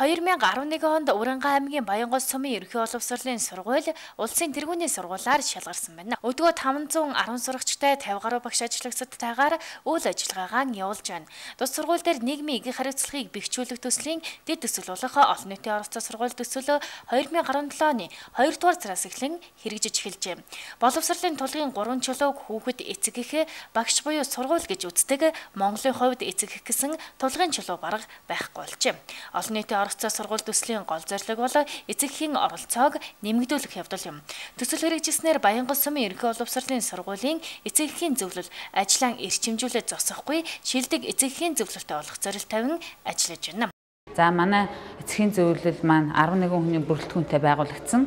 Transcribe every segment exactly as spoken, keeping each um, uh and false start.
хоёр мянга арван нэгэн онд Уранга аймгийн Баянгол сумын ерөнхий боловсролын сургууль улсын тэргүүний сургуулиар шалгарсан байна. Өдгөө таван зуун арван сурагчтай тавь гаруй багш ажлагчдтайгаар үйл ажиллагаагаа явуулж байна. Тус сургууль дээр нийгмийн эгийн хариуцлагыг бэхжүүлэх төслийн дэд төсөл болох олон нийтийн оролцоо сургууль төсөл хоёр мянга арван долоо оны хоёрдугаар сараас эхлэн хэрэгжиж эхэлжээ. Боловсролын тулгын гурван чулууг хүүхэд эцэг эх багш буюу сургууль гэж үздэг Монголын хувьд эцэг эх гэсэн тулгын чулуу бараг байхгүй болжээ. Олон нийтийн оролцоо сургууль төслийн гол зорилго бол эцэг эхийн оролцоог нэмэгдүүлэх явдал юм. Төсөл хэрэгжснээр Баянгол сумын ерөнхий боловсролын сургуулийн эцэг эхийн зөвлөл ажлаа эрчимжүүлээд зогсохгүй шилдэг эцэг эхийн зөвлөлтөй болох зорилт тавин ажиллаж байна. За манай эцэг эхийн зөвлөл маань арван нэгэн хүний бүрэлдэхүүнтэй байгуулагдсан.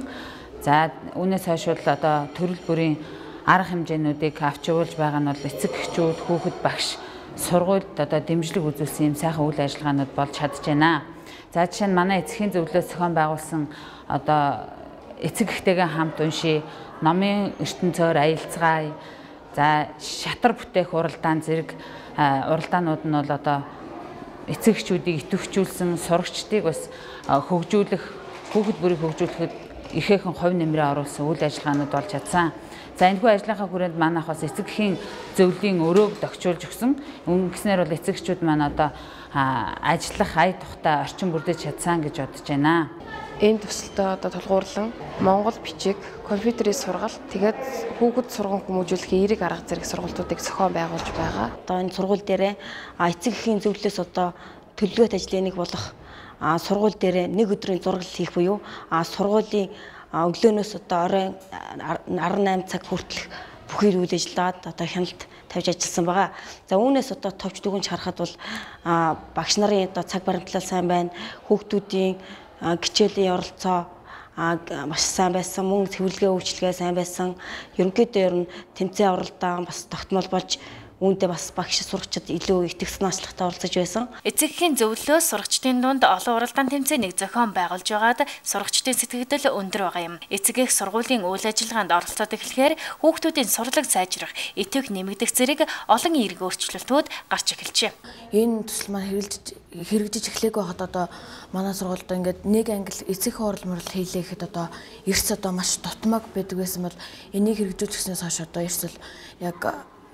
За үүнээс хойш бол одоо төрөл бүрийн арга хэмжээнүүдийг авч явуулж байгаа нь бол эцэг эхчүүд, хүүхэд багш, сургуульд одоо дэмжлэг үзүүлсэн юм сайхан үйл ажиллагаанууд болж чадж байна. За жишээ нь манай эцэг эхийн зөвлөлөөс зохион байгуулсан одоо эцэг эхтэйгээ хамт уншия, номын ертөнцөөр аялцгаая. За шатар бүтээх уралдаан зэрэг уралдаанууд нь бол одоо эцэг эхчүүдийг идэвхжүүлсэн, сурагчдыг бас хөгжүүлэх, хүүхэд бүрийг хөгжүүлэхэд ихээхэн хувь нэмрээ оруулсан үйл ажиллагаанууд болж чадсан. За энэхүү ажлынхаа хүрээнд манайх бас эцэг эхийн зөвлөлийн өрөөг догчуулж өгсөн. Ингэснээр бол эцэг эхчүүд маань одоо ажиллах ая тухтай орчин бүрдэж чадсан гэж бодож байна. Энэ төсөлтөд одоо тулгуурлан Монгол бичиг, компьютерийн сургалт, тэгээд хүүхэд сургууль хүмүүжүүлэхийн эерэг арга зэрэг сургалтуудыг зохион байгуулж байгаа. Одоо энэ сургууль дээр эцэг эхийн зөвлөлөөс одоо төлөвлөгөөт ажлын нэг болох сургууль дээр нэг өдрийн зураг хийх буюу сургуулийн өглөөнөөс одоо оройн арван найман цаг хүртэлх бүхий үйл ажиллагаад одоо хяналт тавьж ажилласан байгаа. За үүнээс одоо товч дүгнж харахад бол багш нарын одоо цаг баримтлал сайн байна, хүүхдүүдийн хичээлийн оролцоо маш сайн байсан, мөн цэвэрлэгээ үйлчилгээ сайн байсан. Ерөнхийдөө ер нь тэмцээн оролдоон бас тогтмол болж үүндээ бас багш сурагчид илүү итгэсэн ажлагтай оролцож байсан. Эцэг эхийн зөвлөлөөс сурагчдын дунд олон уралдаан тэмцээнийг зохион байгуулж байгаад сурагчдын сэтгэгдэл өндөр байгаа юм. Эцэг эх сургуулийн үйл ажиллагаанд оролцоод эхлэхээр хүүхдүүдийн сурлаг сайжрах, итгэх нэмэгдэх зэрэг олон эерэг өөрчлөлтүүд гарч эхэлжээ. Энэ төсөл маань хэрэгжиж хэрэгжиж эхлэегүй байхад одоо манай сургуульд ингээд нэг англи эцэг хурал мурал хийлээ гэхэд одоо эрс одоо маш дутмаг байдаг байсан бол энийг хэрэгжүүлснээс хойш одоо эрс л яг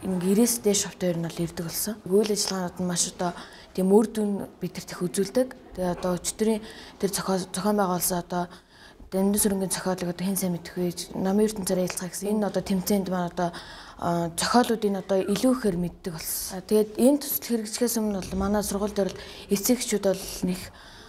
ирээс дээш шавтаар нь бол ирдэг болсон. Үйл ажиллагаанууд нь маш одоо тийм үр дүн бидэрт их үзүүлдэг. Тэгээ одоо өчтөрийн тэр зохион байгуулсан одоо Дэмдэн сүрэнгийн зохиолыг одоо хэн сайн мэдэх вэ? Намын ертөнцөөр аялцгаа гэсэн энэ одоо тэмцээнд маань одоо зохиолуудыг одоо илүү ихээр мэддэг болсон. Тэгээд энэ төсөл хэрэгжихээс өмнө бол манай сургууль дээр л эцэг эхчүүд бол нэг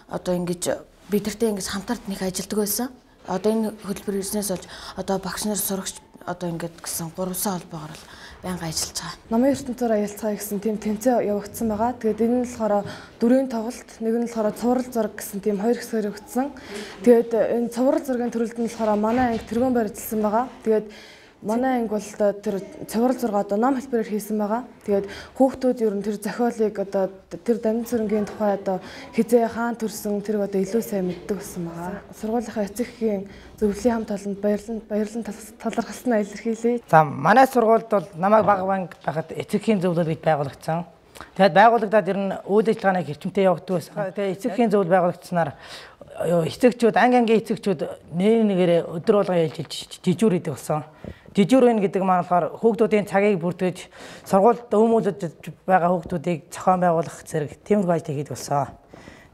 одоо ингэж бидэртэй ингэж хамтард нэг ажилдаг байсан. Одоо энэ хөтөлбөр ирснээс болж одоо багш нар сурагч одоо ингэж гэсэн гурван холбоогоор л байнга ажиллаж байгаа. Намын ертөнцөөр аялцгаа гэсэн тийм тэмцээн явагдсан байгаа. Тэгээд энэ нь болохоор дөрвийн тоглолт, нэг нь болохоор цуврал зураг гэсэн тийм хоёр хэсгээр явагдсан. Тэгээд энэ цуврал зургийн төрөлд нь болохоор манай анги тэргуун барьжсан байгаа. Тэгээд манай анги бол тэр цуврал зураг одоо ном хэлбэрээр хийсэн байгаа. Тэгээд хүүхдүүд ер нь тэр зохиолыг одоо тэр Дэмдэн сүрэнгийн тухай одоо хизээ хаан төрсөн тэрг одоо илүү сайн мэддэг болсон байгаа. Сургуулийнхаа эцэг эхийн зөвлөлийн хамт олонд баярлан баярлан талархалснаа илэрхийлье. За манай сургуульд бол намайг бага банк байхад эцэг эхийн зөвлөл гэж байгуулагдсан. Тэгээд байгуулагдаад ер нь үйл ажиллагааны хэрчмтэй явагддаг байсан. Тэгээд эцэг эхийн зөвлөл байгуулагдсанаар эцэгчүүд анги ангийн эцэгчүүд нэг нэгээрээ өдөр болгон ялжилж жижүүр идэг болсон. Жижүүр үн гэдэг маань болохоор хүүхдүүдийн цагийг бүрдгэж сургуульд өмүүлж байгаа хүүхдүүдийг зохион байгуулах зэрэг тиймэрхүү ажил хийдэг болсон.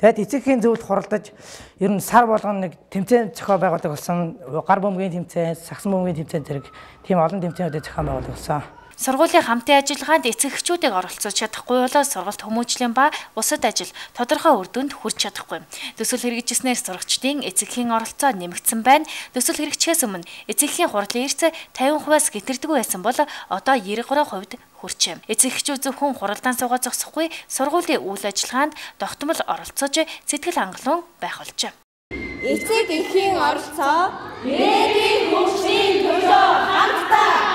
Тэгээд эцэг эхийн зөвлөлд хуралдаж ер нь сар болгон нэг тэмцээн зохион байгуулдаг болсон. Гар бөмбөгийн тэмцээн, сагсан бөмбөгийн тэмцээн зэрэг тийм олон тэмцээнүүдийг зохион байгуулдаг болсон. Сургуулийн хамтын ажиллагаанд эцэг эхчүүдийг оролцуулж чадахгүй болоо сургалт хүмүүжлийн ба бусад ажил тодорхой үр дүнд хүрч чадахгүй. Төсөл хэрэгжснээр сурагчдын эцэг эхийн оролцоо нэмэгдсэн байна. Төсөл хэрэгжихээс өмнө эцэг эхийн хурлын эрс тавин хувиас гэтэрдэггүй байсан бол одоо девять хувьд хүрчээ. Эцэг эхчүүд зөвхөн хуралдаан суугаад зогсохгүй сургуулийн үйл ажиллагаанд тогтмол оролцож сэтгэл хангалуун байх болжээ. Эцэг эхийн оролцоо ирээдүйн хөгжлийн төлөө хамтдаа